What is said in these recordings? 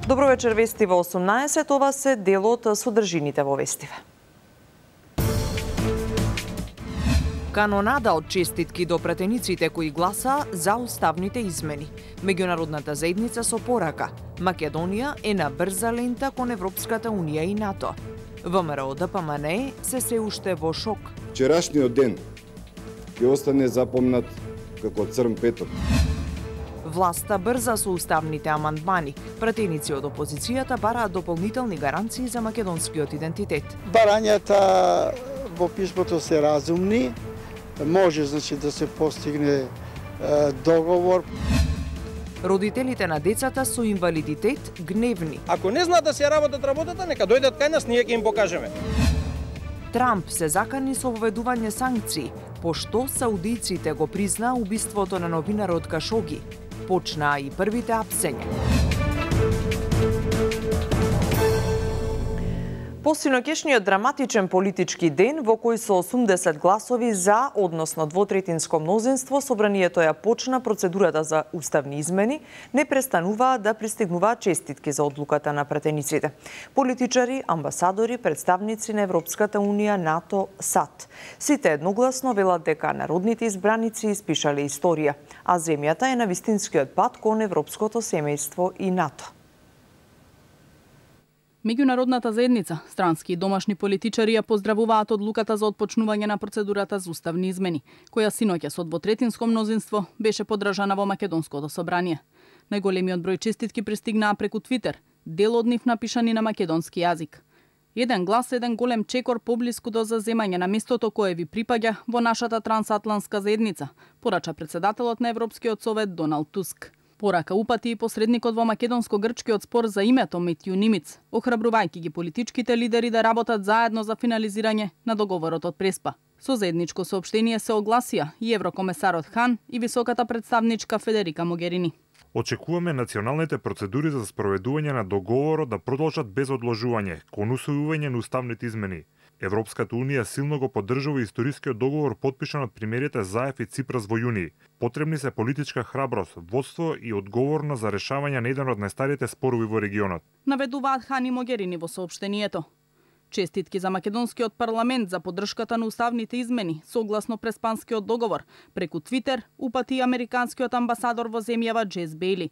Добро вечер, вести во 18, ова се дел од содржините во вестиве. Канонада од честитки до пратениците кои гласа за уставните измени. Меѓународната заедница со порака. Македонија е на брза лента кон Европската Унија и НАТО. ВМРО ДПМН се уште во шок. Вчерашниот ден ќе остане запомнат како црн петок. Власта брза со уставните амандмани. Пратеници од опозицијата бараат дополнителни гаранции за македонскиот идентитет. Барањата во писмото се разумни, може да се постигне договор. Родителите на децата со инвалидитет гневни. Ако не знаат да се работат работата, нека дојдат кај нас, ние ќе им покажеме. Трамп се закани со воведување санкции, пошто саудиците го признаа убиството на новинарот Кашоги. Почнаа и првите апсења. Посинокешниот драматичен политички ден во кој со 80 гласови за, односно двотретинско мнозинство, собранието ја почна процедурата за уставни измени, не престануваа да пристигнуваат честитки за одлуката на пратениците. Политичари, амбасадори, представници на Европската Унија, НАТО, САД. Сите едногласно велат дека народните избраници испишале историја, а земјата е на вистинскиот пат кон европското семејство и НАТО. Меѓународната заедница, странски и домашни политичари ја поздравуваат одлуката за отпочнување на процедурата за уставни измени, која синоќа со двотретинско мнозинство беше поддржана во Македонското собрание. Најголемиот број честитки пристигнаа преку Твитер, дел од нив напишани на македонски јазик. Еден глас, еден голем чекор поблиску до заземање на местото кое ви припаѓа во нашата трансатлантска заедница, порача председателот на Европскиот совет Доналд Туск. Порака упати и посредникот во македонско-грчкиот спор за името Метју Нимиц, охрабрувајќи ги политичките лидери да работат заедно за финализирање на договорот од Преспа. Со заедничко соопштение се огласија и еврокомесарот Хан и високата представничка Федерика Могерини. Очекуваме националните процедури за спроведување на договорот да продолжат без одложување кон усвојување на уставните измени. Европската Унија силно го поддржува историскиот договор подпишан од премиерите Заев и Ципрас во јуни. Потребни се политичка храброст, водство и одговорност за решавање на еден од најстарите спорови во регионот. Наведуваат Хан и Могерини во соопштението. Честитки за македонскиот парламент за поддршката на уставните измени согласно Преспанскиот договор, преку Твитер упати и американскиот амбасадор во земјава Джес Бейли.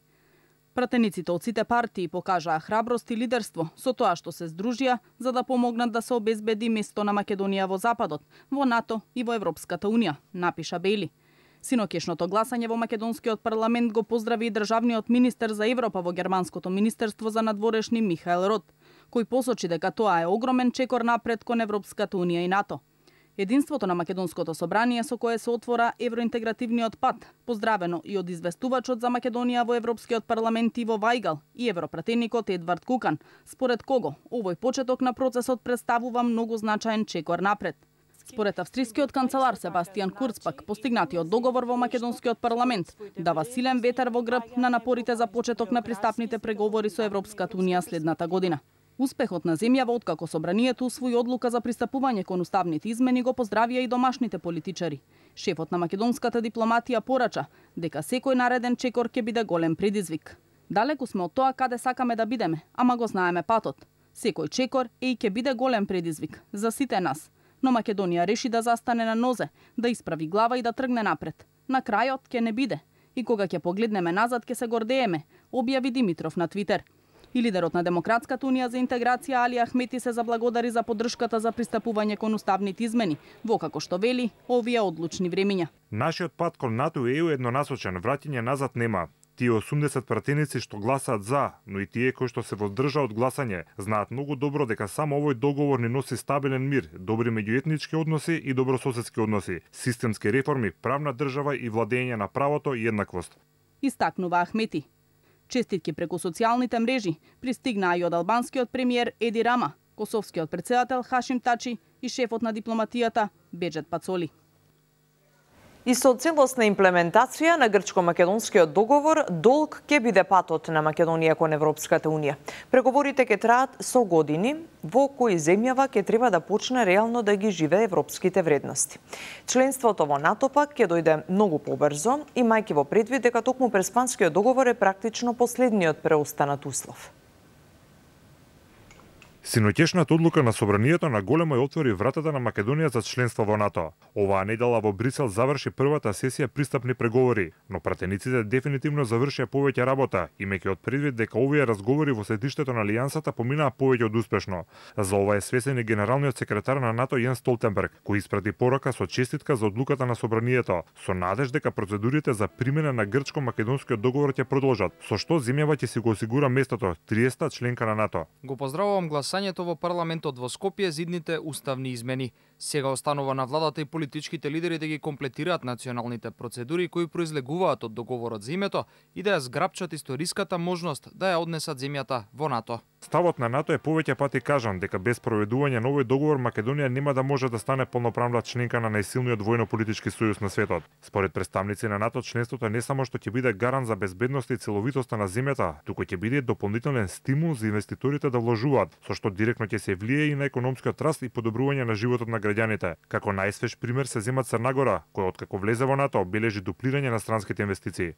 Пратениците од сите партии покажаа храброст и лидерство со тоа што се здружија за да помогнат да се обезбеди место на Македонија во Западот, во НАТО и во Европската Унија, напиша Бейли. Синокешното гласање во македонскиот парламент го поздрави и државниот министер за Европа во германското министерство за надворешни Михаел Рот, кој посочи дека тоа е огромен чекор напред кон Европската Унија и НАТО. Единството на македонското собрание со кое се отвора евроинтегративниот пат, поздравено и од известувачот за Македонија во Европскиот парламент Иво Вајгал и европратеникот Едвард Кукан, според кого овој почеток на процесот представува многу значаен чекор напред. Според австрискиот канцелар Себастијан Курц пак, постигнатиот договор во македонскиот парламент дава силен ветер во грб на напорите за почеток на пристапните преговори со Европската Унија следната година. Успехот на земјава откако собранието усвои одлука за пристапување кон уставните измени го поздравија и домашните политичари. Шефот на македонската дипломатија порача дека секој нареден чекор ќе биде голем предизвик. Далеку сме од тоа каде сакаме да бидеме, ама го знаеме патот. Секој чекор е и ќе биде голем предизвик за сите нас. Но Македонија реши да застане на нозе, да исправи глава и да тргне напред. На крајот ќе не биде. И кога ќе погледнеме назад ќе се гордееме, објави Димитров на Твитер. И лидерот на Демократската Унија за интеграција Али Ахмети се заблагодари за поддршката за пристапување кон уставните измени, во како што вели овие одлучни времиња. Нашиот пат кон НАТО и ЕУ еднонасочен, враќање назад нема. Тие 80 пратеници што гласаат за, но и тие кои што се воздржаа од гласање, знаат многу добро дека само овој договор ни носи стабилен мир, добри меѓуетнички односи и добрососедски односи, системски реформи, правна држава и владење на правото и еднаквост. Истакнува Ахмети. Честитки преку социјалните мрежи пристигнаа и од албанскиот премиер Еди Рама, косовскиот претседател Хашим Тачи и шефот на дипломатијата Беџет Пацоли. И со целосна имплементација на грчко-македонскиот договор, долг ќе биде патот на Македонија кон Европската Унија. Преговорите ќе траат со години, во кои земјава ќе треба да почне реално да ги живее европските вредности. Членството во НАТО пак ќе дојде многу побрзо, имајќи во предвид дека токму Преспанскиот договор е практично последниот преостанат услов. Синоќешната одлука на собранието на големо ја отвори вратата на Македонија за членство во НАТО. Оваа недела во Брисел заврши првата сесија пристапни преговори, но пратениците дефинитивно завршија повеќе работа, имајќи од предвид дека овие разговори во седиштето на алијансата поминаа повеќе од успешно. За ова е свесен и генералниот секретар на НАТО Јенс Столтенберг, кој испрати порака со честитка за одлуката на собранието, со надеж дека процедурите за примена на грчко-македонскиот договор ќе продолжат, со што земјава ќе си го осигура местото 30-та членка на НАТО. Го поздравувам гласањето во парламентот во Скопје за идните уставни измени. Сега останува на владата и политичките лидери да ги комплетираат националните процедури кои произлегуваат од договорот за името и да ја зграпчат историската можност да ја однесат земјата во НАТО. Ставот на НАТО е повеќе пати кажан дека без проведување на овој договор Македонија нема да може да стане полноправна членка на најсилниот војно-политички сојуз на светот. Според представници на НАТО, членството не само што ќе биде гарант за безбедност и целовитоста на земјата, туку ќе биде дополнителен стимул за инвеститорите да вложуваат, со што директно ќе се влие и на економскиот раст и подобрување на животот на граѓаните. Како најсвеж пример се зема Црна Гора, која откако влезе во НАТО бележи дуплирање на странските инвестиции.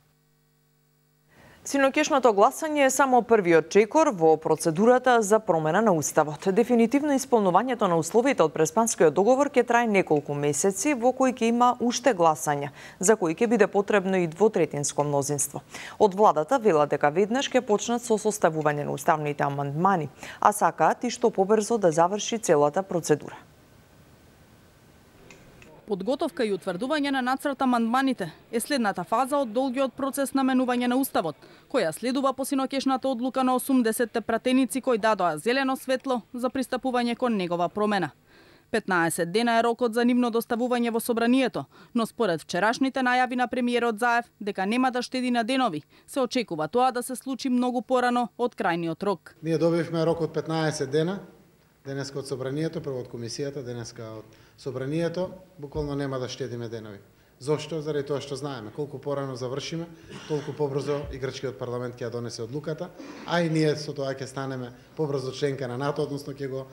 Синоќешното гласање е само првиот чекор во процедурата за промена на уставот. Дефинитивно исполнувањето на условите од Преспанскиот договор ќе трае неколку месеци, во кои ќе има уште гласања, за кои ќе биде потребно и двотретинско мнозинство. Од владата велат дека веднаш ќе почнат со составување на уставните амандмани, а сакаат и што побрзо да заврши целата процедура. Подготовка и утврдување на нацрт амандманите е следната фаза од долгиот процес на менување на уставот, која следува по синоќешната одлука на 80 пратеници кои дадоа зелено светло за пристапување кон негова промена. 15 дена е рокот за нивно доставување во собранието, но според вчерашните најави на премиерот Заев дека нема да штеди на денови, се очекува тоа да се случи многу порано од крајниот рок. Ние добивме рок од 15 дена, денеска од собранието, прво од комисијата, денеска од собранието, буквално нема да штедиме денови. Зошто? Заради тоа што знаеме, колку порано завршиме, толку побрзо и грчкиот парламент ќе ја донесе одлуката, а и ние со тоа ќе станеме побрзо членка на НАТО, односно ќе го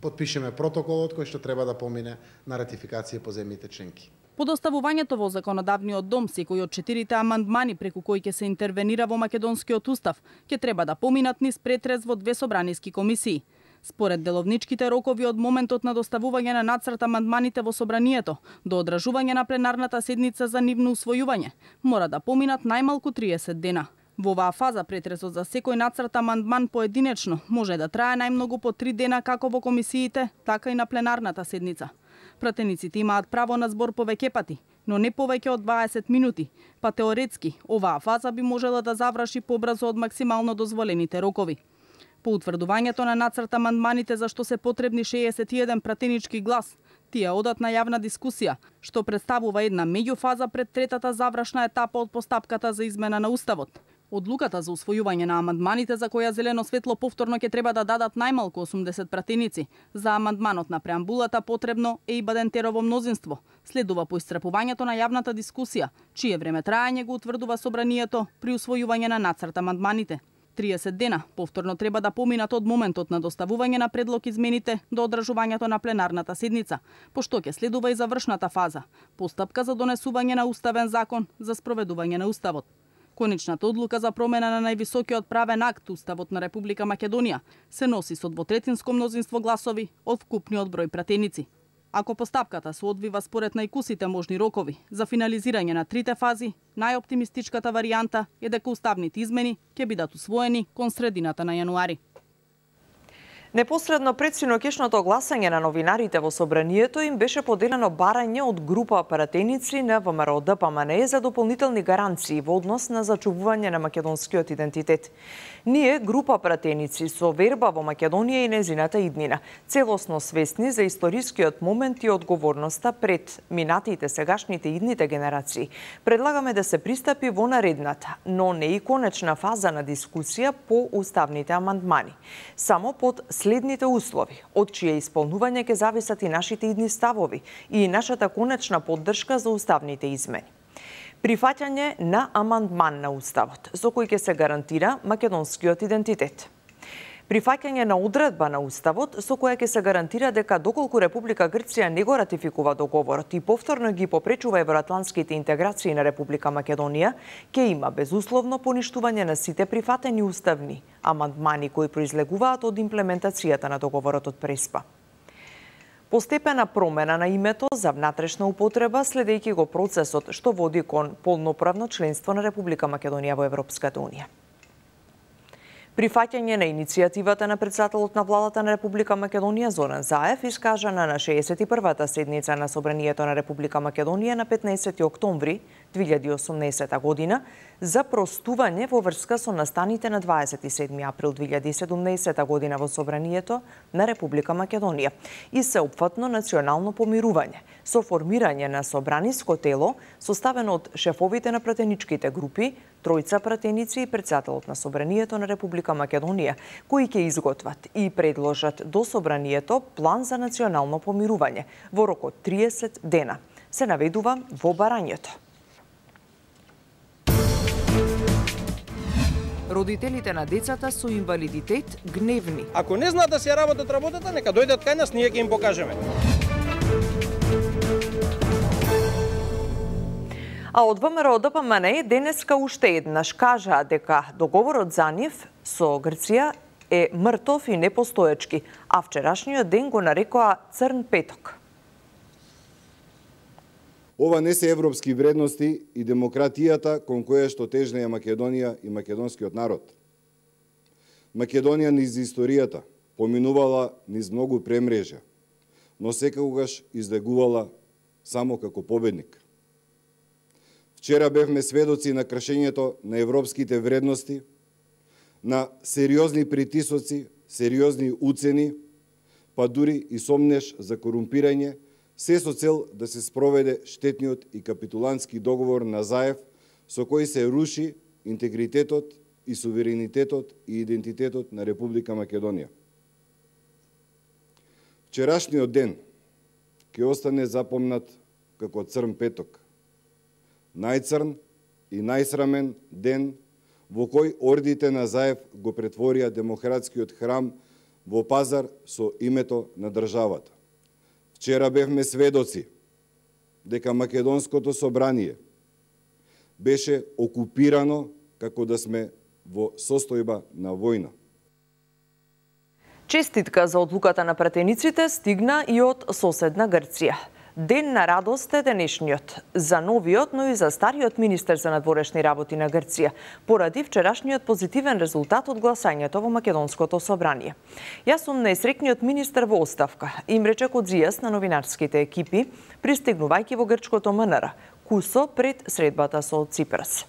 потпишеме протоколот кој што треба да помине на ратификација по земјите членки. По доставувањето во законодавниот дом, секој од 4 амандмани преку кои ќе се интервенира во македонскиот устав, ќе треба да поминат низ претрез во 2 собраниски комисии. Според деловничките рокови од моментот на доставување на нацрт амандманите во собранието до одржување на пленарната седница за нивно усвојување, мора да поминат најмалку 30 дена. Во оваа фаза претресот за секој нацрт амандман поединечно може да трае најмногу по 3 дена како во комисиите, така и на пленарната седница. Пратениците имаат право на збор повеќе пати, но не повеќе од 20 минути, па теоретски оваа фаза би можела да заврши побрзо од максимално дозволените рокови. По утврдувањето на нацрт амандманите за што се потребни 61 пратенички глас, тие одат на јавна дискусија, што представува една меѓуфаза пред третата завршна етапа од постапката за измена на уставот. Одлуката за усвојување на амандманите за која зелено светло повторно ќе треба да дадат најмалку 80 пратеници. За амандманот на преамбулата потребно е и бадентерово мнозинство. Следува по исцрпувањето на јавната дискусија, чие време траење го утврдува собранието при усвојување на нацрт амандманите. 30 дена повторно треба да поминат од моментот на доставување на предлог измените до одржувањето на пленарната седница, пошто ќе следува и завршната фаза, постапка за донесување на уставен закон за спроведување на уставот. Конечната одлука за промена на највисокиот правен акт, Уставот на Република Македонија, се носи со двотретинско мнозинство гласови од вкупниот број пратеници. Ако постапката се одвива според најкусите можни рокови за финализирање на 3 фази, најоптимистичката варијанта е дека уставните измени ќе бидат усвоени кон средината на јануари. Непосредно пред синоќешното гласање на новинарите во собранието им беше поделено барање од група пратеници на ВМРО ДПМНЕ за дополнителни гаранции во однос на зачувување на македонскиот идентитет. Ние, група пратеници со верба во Македонија и незината иднина, целосно свесни за историскиот момент и одговорноста пред минатите, сегашните и идните генерации, предлагаме да се пристапи во наредната, но не и конечна фаза на дискусија по уставните амандмани. Само под следните услови, од чие исполнување ќе зависат и нашите идни ставови и нашата конечна поддршка за уставните измени. Прифаќање на амандман на уставот, со кој ќе се гарантира македонскиот идентитет. Прифаќање на одредба на Уставот со која ќе се гарантира дека доколку Република Грција не го ратификува договорот и повторно ги попречува евроатлантските интеграции на Република Македонија, ќе има безусловно поништување на сите прифатени уставни амандмани кои произлегуваат од имплементацијата на договорот од Преспа. Постепена промена на името за внатрешна употреба следејќи го процесот што води кон полноправно членство на Република Македонија во Европската унија. Прифаќање на иницијативата на председателот на владата на Република Македонија Зоран Заев, искажана на 61-та седница на Собранието на Република Македонија на 15 октомври 2018 година, за простување во врска со настаните на 27 април 2017 година во Собранието на Република Македонија и сеопфатно национално помирување со формирање на собраниско тело составено од шефовите на пратеничките групи, тројца пратеници и председателот на Собранието на Република Македонија, кои ќе изготват и предложат до Собранието план за национално помирување во рок од 30 дена, се наведува во барањето. Родителите на децата со инвалидитет гневни. Ако не знаат да си работат работата, нека дојдат кај нас, ние ќе им покажеме. А од ВМРО ДПМН денеска уште еднаш кажаа дека договорот за нив со Грција е мртов и непостоечки, а вчерашниот ден го нарекоа црн петок. Ова не се европски вредности и демократијата кон која што тежне е Македонија и македонскиот народ. Македонија низ историјата поминувала низ многу премрежја, но секогаш излегувала само како победник. Вчера бевме сведоци на кршењето на европските вредности, на сериозни притисоци, сериозни уцени, па дури и сомнеш за корумпирање, се со цел да се спроведе штетниот и капитулантски договор на Заев, со кој се руши интегритетот и суверенитетот и идентитетот на Република Македонија. Вчерашниот ден ќе остане запомнат како црн петок, најцрн и најсрамен ден во кој ордите на Заев го претворија демократскиот храм во пазар со името на државата. Вчера бевме сведоци дека Македонското собрание беше окупирано како да сме во состојба на војна. Честитка за одлуката на пратениците стигна и од соседна Грција. Ден на радост е денешниот за новиот, но и за стариот министер за надворешни работи на Грција, поради вчерашниот позитивен резултат од гласањето во Македонското собрание. Јас сум најсреќниот министер во оставка, им рече Кодзијас на новинарските екипи, пристигнувајќи во грчкото МНР, кусо пред средбата со Ципрас.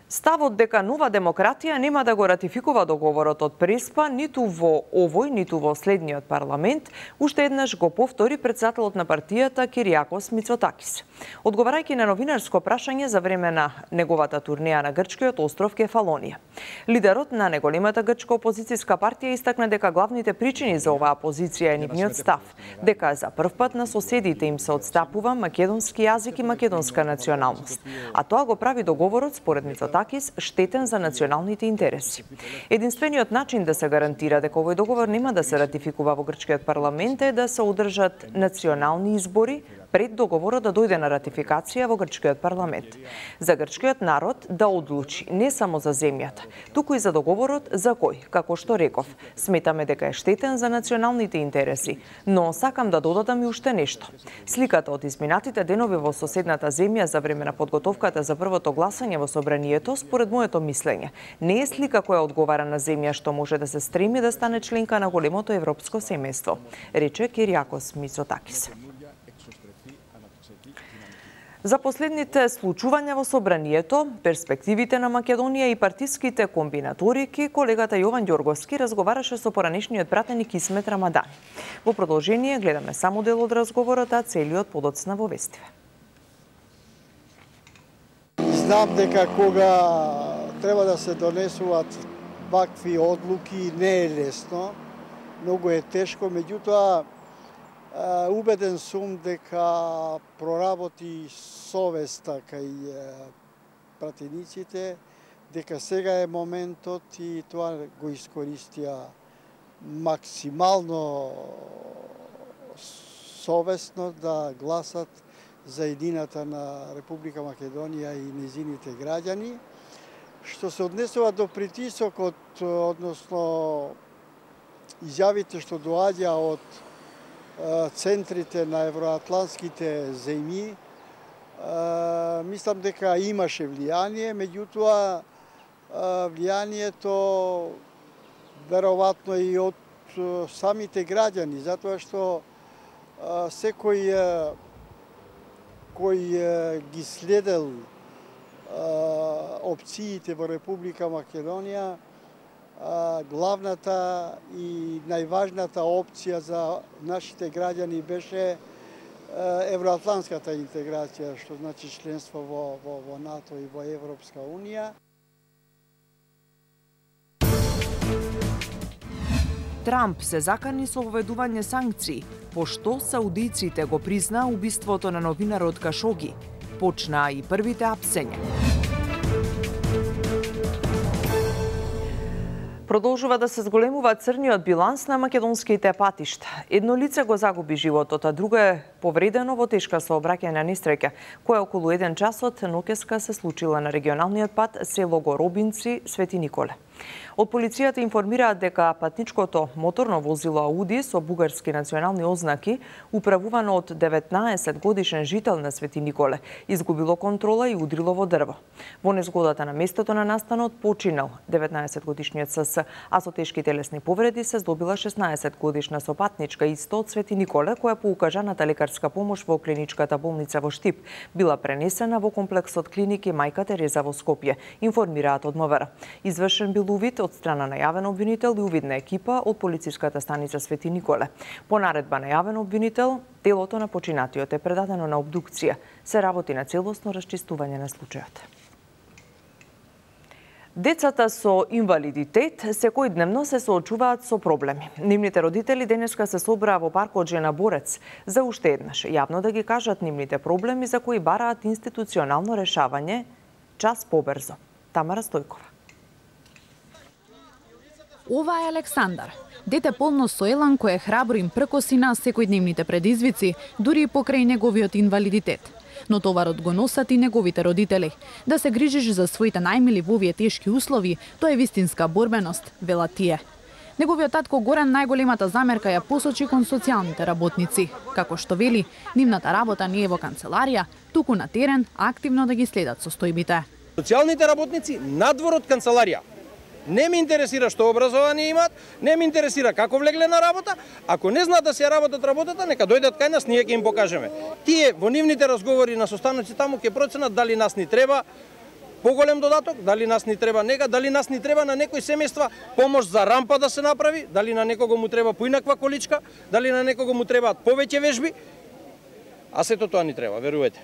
Ставот дека Нова демократија нема да го ратификува договорот од Преспа ниту во овој, ниту во следниот парламент, уште еднаш го повтори председателот на партијата Кириакос Мицотакис. Одговарајќи на новинарско прашање за време на неговата турнеја на грчкиот остров Кефалонија. Лидерот на најголемата грчка опозицијска партија истакна дека главните причини за оваа позиција е нивниот став, дека за прв пат на соседите им се отстапува македонски јазик и македонска националност, а тоа го прави договорот според Мицотакис штетен за националните интереси. Единствениот начин да се гарантира дека овој договор нема да се ратификува во грчкиот парламент е да се одржат национални избори пред договорот да дојде на ратификација во грчкиот парламент. За грчкиот народ да одлучи не само за земјата, туку и за договорот за кој, како што реков, сметаме дека е штетен за националните интереси, но сакам да додадам и уште нешто. Сликата од изминатите денови во соседната земја за време на подготовката за првото гласање во собранието, според моето мислење, не е слика која одговара на земја што може да се стреми да стане членка на големото европско семејство, рече Кириакос Мицотакис. За последните случувања во собранието, перспективите на Македонија и партиските комбинаторики, колегата Јован Ѓорговски разговараше со поранешниот пратеник Исмет Рамадани. Во продолжение гледаме само дел од разговорот, а целиот подоцна во вестиве. Знам дека кога треба да се донесуваат вакви одлуки не е лесно, многу е тешко, меѓутоа убеден сум дека проработи совеста кај пратениците, дека сега е моментот и тоа го искористија максимално совесно да гласат за едината на Република Македонија и незините граѓани. Што се однесува до притисокот, односно изјавите што доаѓа од центрите на евроатлантските земји, мислам дека имаше влијание, меѓутоа влијанието веројатно и од самите граѓани, затоа што секој кој ги следел опциите во Република Македонија, главната и најважната опција за нашите граѓани беше евроатлантската интеграција, што значи членство во НАТО и во Европска Унија. Трамп се закани со воведување санкции, пошто саудиците го призна убиството на новинарот Кашоги. Почнаа и првите апсења. Продолжува да се зголемува црниот биланс на македонските патишта. Едно лице го загуби животот, а друго е повредено во тешка сообраќајна несреќа, која околу 1 час од ноќеска се случила на регионалниот пат село Горобинци, Свети Николе. Од полицијата информираат дека патничкото моторно возило Ауди со бугарски национални ознаки, управувано од 19 годишен жител на Свети Николе, изгубило контрола и удрило во дрво. Во незгодата на местото на настанот починал 19 годишниот СС, а со тешки телесни повреди се здобила 16 годишна сопатничка исто од Свети Николе, која по укажаната лекарска помош во клиничката болница во Штип била пренесена во комплексот клиники Мајка Тереза во Скопје, информираат од МВР. Извршен бил увид од страна на јавен обвинител и увидна екипа од полициската станица Свети Николе. По наредба на јавен обвинител, телото на починатиот е предадено на обдукција. Се работи на целосно расчистување на случајот. Децата со инвалидитет секојдневно се соочуваат со проблеми. Нивните родители денеска се собраа во паркот Жена Борец за уште еднаш јавно да ги кажат нивните проблеми за кои бараат институционално решавање час побрзо. Тамара Стојкова. Ова е Александар, дете полно со елан кој е храбро им пркоси на секојдневните предизвици, дури и покрај неговиот инвалидитет. Но товарот го носат и неговите родители. Да се грижиш за своите најмили во овие тешки услови, тоа е вистинска борбеност, велат тие. Неговиот татко Горан најголемата замерка ја посочи кон социјалните работници. Како што вели, нивната работа не е во канцеларија, туку на терен, активно да ги следат состојбите. Социјалните работници надвор од канцеларија. Не ме интересира што образование имаат, не ме интересира како влегле на работа. Ако не знаат да се работат работата, нека дојдат кај нас, ние ќе им покажеме. Тие во нивните разговори на состаноци таму ќе проценат дали нас ни треба поголем додаток, дали нас ни треба нега, дали нас ни треба на некои семејства помош за рампа да се направи, дали на некого му треба поинаква количка, дали на некого му требаат повеќе вежби. А сето тоа ни треба, верувате.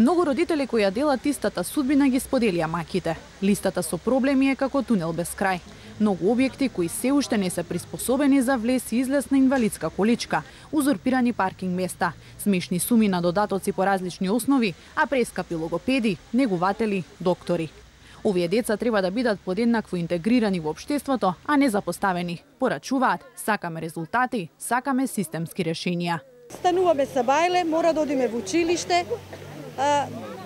Многу родители кои ја делат истата судбина ги споделија маките. Листата со проблеми е како тунел без крај. Многу објекти кои се уште не се приспособени за влез и излез на инвалидска количка, узурпирани паркинг места, смешни суми на додатоци по различни основи, а прескапи логопеди, негуватели, доктори. Овие деца треба да бидат подеднакво интегрирани во општеството, а не запоставени. Порачуваат, сакаме резултати, сакаме системски решенија. Стануваме са бајле, мора да одиме во училиште.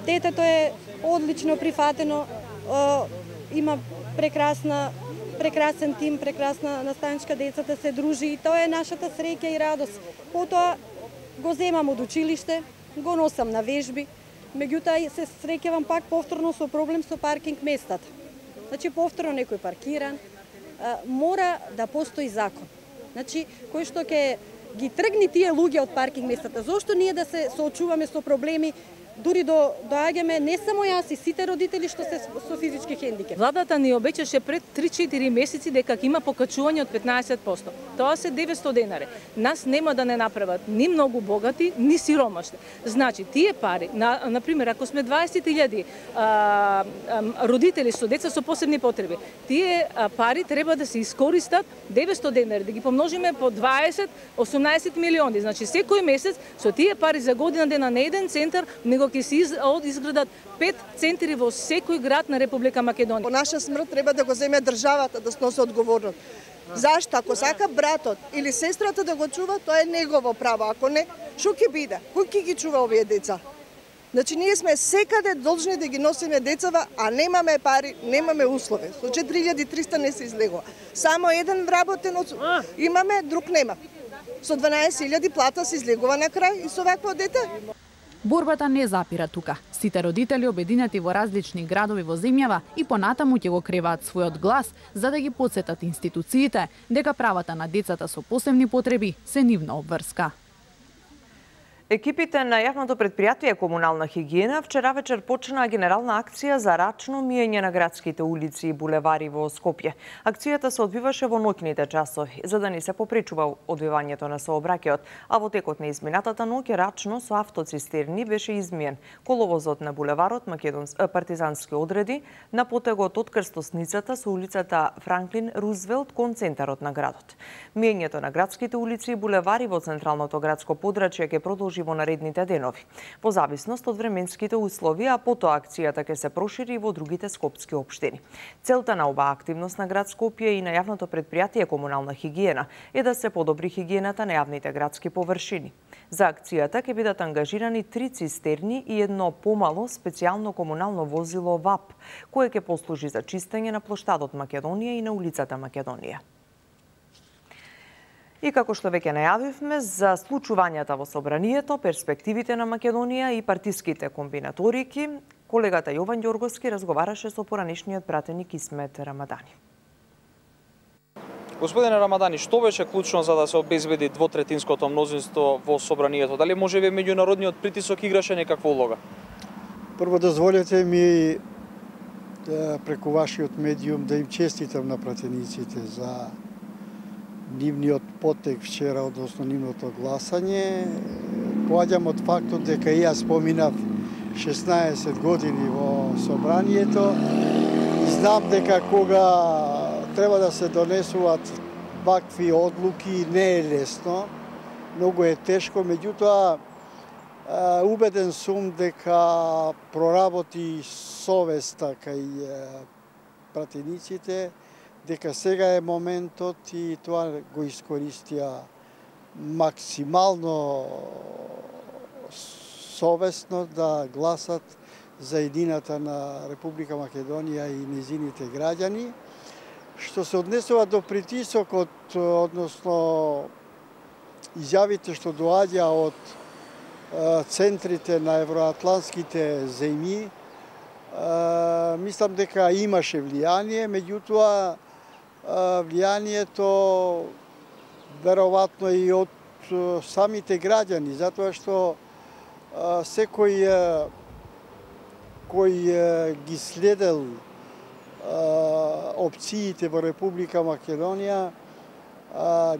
Детето е одлично прифатено, има прекрасен тим, прекрасна наставничка, децата се дружи и тоа е нашата среќа и радост. Потоа го земам од училиште, го носам на вежби, меѓутоа се среќавам пак повторно со проблем со паркинг местата. Значи повторно некој паркиран, мора да постои закон. Значи кој што ќе ги тргни тие луѓе од паркинг местата. Зошто ние да се соочуваме со проблеми? Дури доаѓаме не само јас и сите родители што се со физички хендикеп. Владата ни обеќаше пред 3-4 месеци дека има покачување од 15%. Тоа се 900 денари. Нас нема да не направат ни многу богати, ни сиромашни. Значи, тие пари, например, ако сме 20.000 родители со деца со посебни потреби, тие пари треба да се искористат 900 денари, да ги помножиме по 20, 18 милиони. Значи, секој месец со тие пари за година дена на еден центар, него него ќе се изградат 5 центри во секој град на Република Македонија. По наша смрт треба да го земе државата да сноси одговорност. Зашто? Ако сака братот или сестрата да го чува, тоа е негово право. Ако не, што ќе биде? Кој ќе ги чува овие деца? Значи, ние сме секаде должни да ги носиме децава, а немаме пари, немаме услови. Со 4300 не се излегува. Само еден вработен имаме, друг нема. Со 12.000 плата се излегува на крај и со вакво дете. Борбата не запира тука. Сите родители обединети во различни градови во земјава и понатаму ќе го креваат својот глас за да ги потсетат институциите дека правата на децата со посебни потреби се нивна обврска. Екипите на јавното предпријатие Комунална хигиена вчера вечер почнаа генерална акција за рачно миење на градските улици и булевари во Скопје. Акцијата се одвиваше во ноќните часови, за да не се попречува одвивањето на сообраќајот, а во текот на изминатата ноќ рачно со автоцистерни беше измиен коловозот на булеварот Партизански одреди на потегот од крстосницата со улицата Франклин Рузвелт кон центарот на градот. Миењето на градските улици и булевари во централното градско подрачје ќе продолжи во наредните денови, по зависност од временските услови, а потоа акцијата ќе се прошири во другите скопски општини. Целта на оваа активност на град Скопје и на јавното предпријатие Комунална хигиена е да се подобри хигиената на јавните градски површини. За акцијата ќе бидат ангажирани 3 цистерни и едно помало специјално комунално возило ВАП, кое ќе послужи за чистење на плоштадот Македонија и на улицата Македонија. И како што веќе најавивме, за случувањата во собранието, перспективите на Македонија и партиските комбинаторики, колегата Јован Ѓорговски разговараше со поранешниот пратеник Исмет Рамадани. Господине Рамадани, што беше клучно за да се обезбеди двотретинското мнозинство во собранието? Дали можеби меѓународниот притисок играше некаква улога? Прво дозволете ми преку вашиот медиум да им честитам на пратениците за нивниот потек вчера, односно нивното гласање. Поаѓам од фактот дека и јас поминав 16 години во собранието и знам дека кога треба да се донесуваат вакви одлуки не е лесно, многу е тешко, меѓутоа убеден сум дека проработи совеста кај пратениците, дека сега е моментот и тоа го искористија максимално совесно да гласат за едината на Република Македонија и незините граѓани. Што се однесува до притисокот, односно изјавите што доаѓа од центрите на евроатлантските земји, мислам дека имаше влијание, меѓутоа влијанието веројатно и од самите граѓани, затоа што секој кој ги следел опциите во Република Македонија,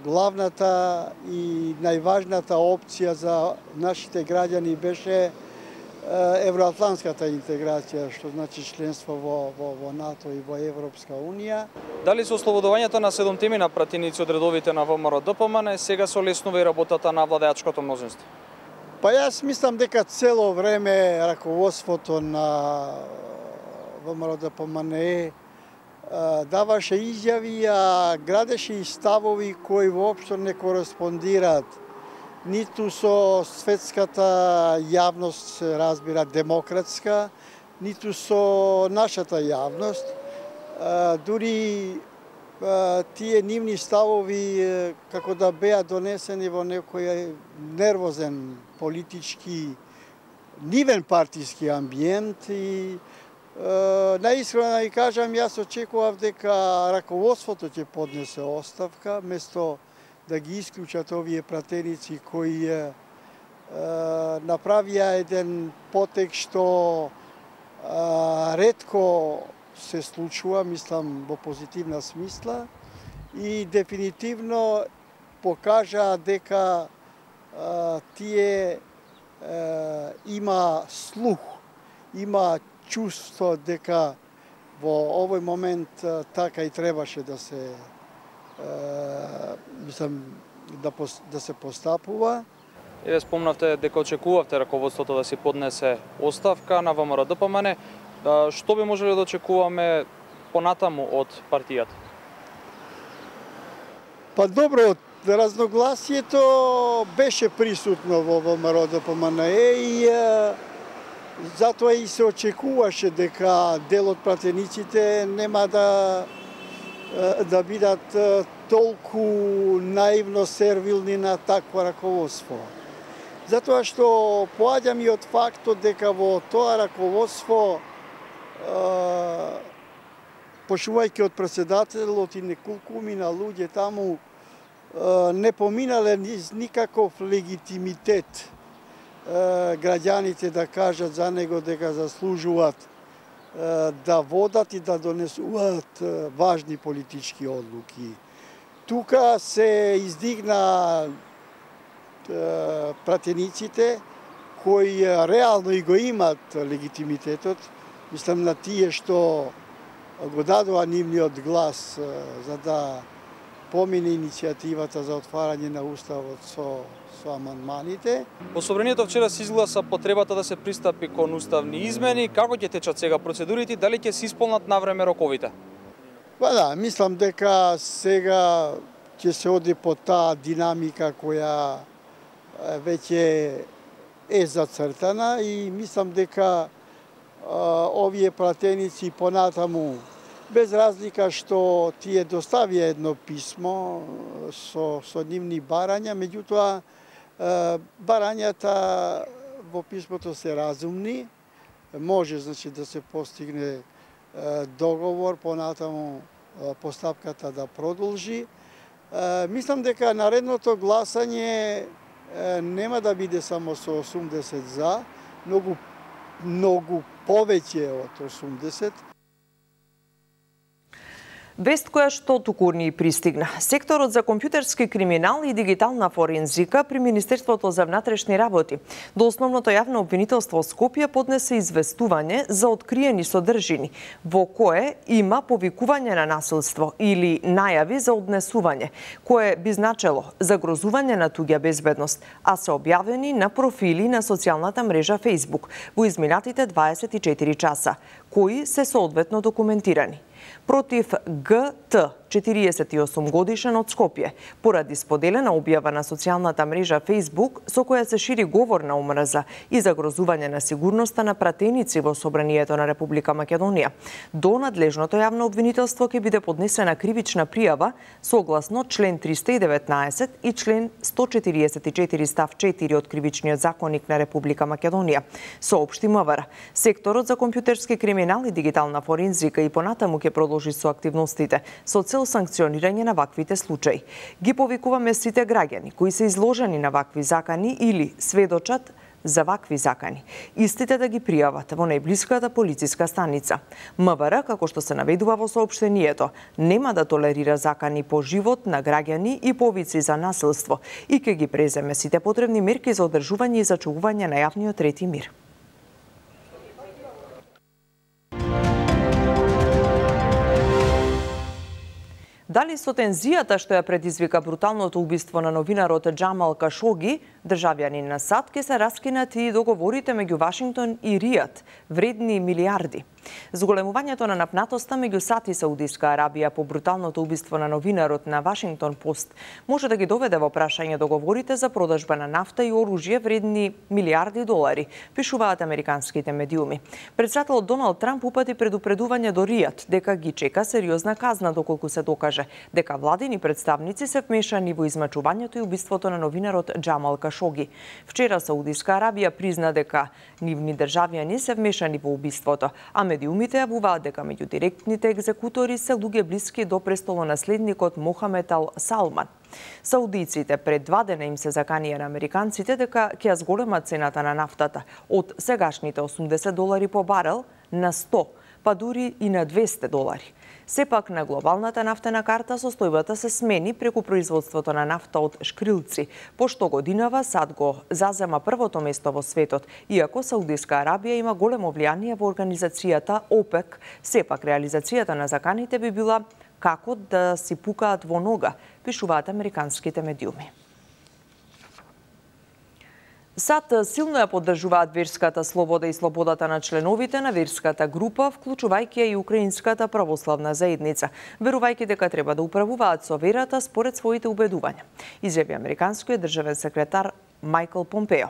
главната и најважната опција за нашите граѓани беше евроатлантската интеграција, што значи членство во НАТО и во Европска Унија. Дали со ослободувањето на 7 на пратеници од редовите на ВМРО-ДПМН сега се олеснува и работата на владеачкото мнозинство? Па јас мислам дека цело време раководството на ВМРО-ДПМН даваше изјави, а градеше и ставови кои воопшто не кореспондираат ниту со светската јавност, се разбира демократска, ниту со нашата јавност. Дури тие нивни ставови како да беа донесени во некој нервозен политички, нивен партиски амбиент и наискрено да ви кажам, јас очекував дека раководството ќе поднесе оставка, место да ги исклучат овие пратеници кои направија еден потек што ретко се случува, мислам во позитивна смисла и дефинитивно покажа дека тие има слух, има чувство дека во овој момент така и требаше да се мислам да се постапува. Еве спомнавте дека очекувавте раководството да си поднесе оставка на ВМРО-ДПМН. Што би можеле да очекуваме понатаму од партијата? Па добро, разногласието беше присутно во ВМРО-ДПМН и затоа и се очекуваше дека дел од пратениците нема да бидат толку наивно сервилни на такво раководство. Затоа што поаѓам и од фактот дека во тоа раководство, почнувајќи од председателот и неколку мина луѓе таму, не поминале никаков легитимитет граѓаните да кажат за него дека заслужуваат да водат и да донесуваат важни политички одлуки. Тука се издигна пратениците кои реално и го имат легитимитетот, мислам на тие што го дадоа нивниот глас за да помине иницијативата за отварање на уставот со амандманите. Во Собранието вчера се изгласа потребата да се пристапи кон уставни измени. Како ќе течат сега процедурите, дали ќе се исполнат навреме роковите? Па да, мислам дека сега ќе се оди по таа динамика која веќе е зацртана и мислам дека овие пратеници понатаму, без разлика што тие доставија едно писмо со нивни барања, меѓутоа барањата во писмото се разумни, може значи да се постигне договор, понатаму постапката да продолжи. Мислам дека наредното гласање нема да биде само со 80 за, многу повеќе од 80. Вест која што туку ни пристигна. Секторот за компјутерски криминал и дигитална форензика при Министерството за внатрешни работи до основното јавно обвинителство Скопје поднесе известување за откриени содржини, во кое има повикување на насилство или најави за однесување, кое би значело загрозување на туѓа безбедност, а се објавени на профили на социјалната мрежа Facebook во изминатите 24 часа, кои се соодветно документирани. Против ГТ, 48 годишен од Скопје, поради споделена објава на социјалната мрежа Facebook со која се шири говор на омрза и загрозување на сигурноста на пратеници во Собранието на Република Македонија. До надлежното јавно обвинителство ќе биде поднесена кривична пријава согласно член 319 и член 144 став 4 од Кривичниот законник на Република Македонија. Соопшти МВР. Секторот за компјутерски криминал и дигитална форензика и понатаму ќе продолжи со активностите со цел санкционирање на ваквите случаи. Ги повикуваме сите граѓани кои се изложени на вакви закани или сведочат за вакви закани, истите да ги пријават во најблиската полициска станица. МВР, како што се наведува во соопштението, нема да толерира закани по живот на граѓани и повици за насилство и ќе ги преземе сите потребни мерки за одржување и зачувување на јавниот ред и мир. Дали со тензијата што ја предизвика бруталното убиство на новинарот Џамал Кашоги, државјанин на САД, ќе се раскинат и договорите меѓу Вашингтон и Ријад, вредни милиарди. Зголемувањето на напнатоста меѓу САД и Саудиска Арабија по бруталното убиство на новинарот на Вашингтон Пост може да ги доведе во прашање договорите за продажба на нафта и оружје вредни милиарди долари, пишуваат американските медиуми. Претседателот Доналд Трамп упати предупредување до Ријад дека ги чека сериозна казна доколку се докаже дека владини представници се вмешани во измачувањето и убиството на новинарот Џамал Кашоги. Вчера Саудиска Арабија призна дека нивни државјани се вмешани во убиството, а медиумите јавуваат дека меѓу директните екзекутори се луѓе блиски до престолонаследникот Мохамед Ал Салман. Саудиците пред 2 дена им се заканија на американците дека ќе ја зголемат цената на нафтата од сегашните $80 по барел на 100, па дури и на $200. Сепак на глобалната нафтена карта состојбата се смени преку производството на нафта од шкрилци, пошто годинава САД го зазема првото место во светот, иако Саудиска Арабија има големо влијание во организацијата ОПЕК. Сепак реализацијата на заканите би била како да си пукаат во нога, пишуваат американските медиуми. САД силно ја поддржуваат верската слобода и слободата на членовите на верската група, вклучувајќи и украинската православна заедница, верувајќи дека треба да управуваат со верата според своите убедувања, изјави американскиот државен секретар Майкл Помпео.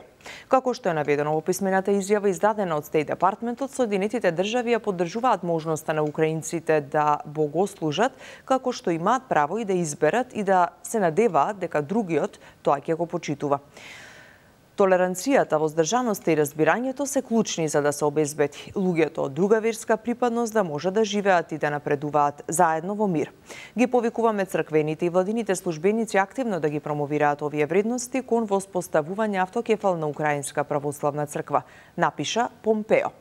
Како што е наведено во писмената изјава издадена од Стейт Департментот, Соединетите држави ја поддржуваат можноста на украинците да богослужат, како што имаат право и да изберат и да се надеваат дека другиот тоа ќе го почитува. Толеранцијата, воздржаноста и разбирањето се клучни за да се обезбеди луѓето од друга верска припадност да може да живеат и да напредуваат заедно во мир. Ги повикуваме црквените и владините службеници активно да ги промовираат овие вредности кон воспоставување автокефална украинска православна црква, напиша Помпео.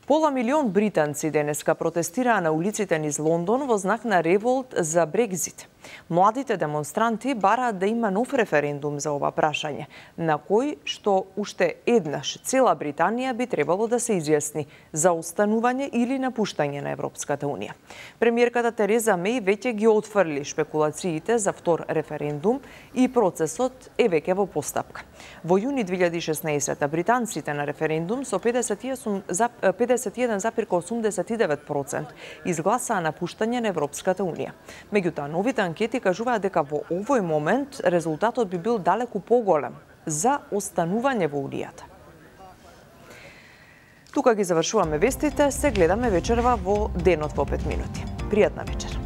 Пола милион британци денеска протестираа на улиците низ Лондон во знак на револт за Брекзит. Младите демонстранти бараат да има нов референдум за ова прашање, на кој што уште еднаш цела Британија би требало да се изјасни за останување или напуштање на Европската Унија. Премиерката Тереза Меј веќе ги отфрли шпекулациите за втор референдум и процесот е веќе во постапка. Во јуни 2016 британците на референдум со 51,89% изгласаа напуштање на Европската Унија. Меѓутоа, новите анкети кажуваат дека во овој момент резултатот би бил далеку поголем за останување во Унијата. Тука ги завршуваме вестите, се гледаме вечерва во Денот во 5 минути. Пријатна вечер.